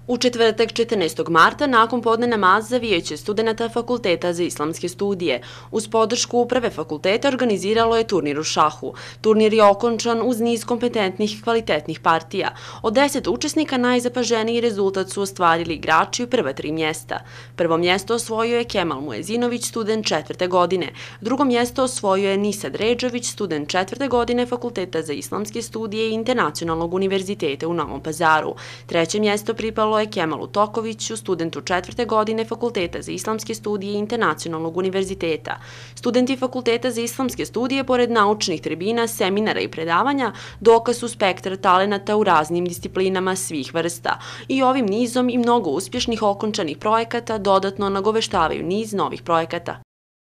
U četvrtak 14. marta nakon podne namaza Vijeće studenata Fakulteta za islamske studije uz podršku uprave fakulteta organiziralo je turnir u šahu. Turnir je okončan uz niz kompetentnih i kvalitetnih partija. Od 10 učesnika najzapaženiji rezultat su ostvarili igrači u prva 3 mjesta. Prvo mjesto osvojio je Kemal Muezinović, student 4. godine. Drugo mjesto osvojio je Nisad Redžović, student 4. godine Fakulteta za islamske studije i Internacionalnog univerziteta u Novom Pazaru. Treće mjesto pripalo je Kemalu Tokoviću, studentu 4. godine Fakulteta za islamske studije i Internacionalnog univerziteta. Studenti Fakulteta za islamske studije, pored naučnih tribina, seminara i predavanja, dokaz su spektar talenata u raznim disciplinama svih vrsta. I ovim nizom i mnogo uspješnih okončanih projekata dodatno nagoveštavaju niz novih projekata.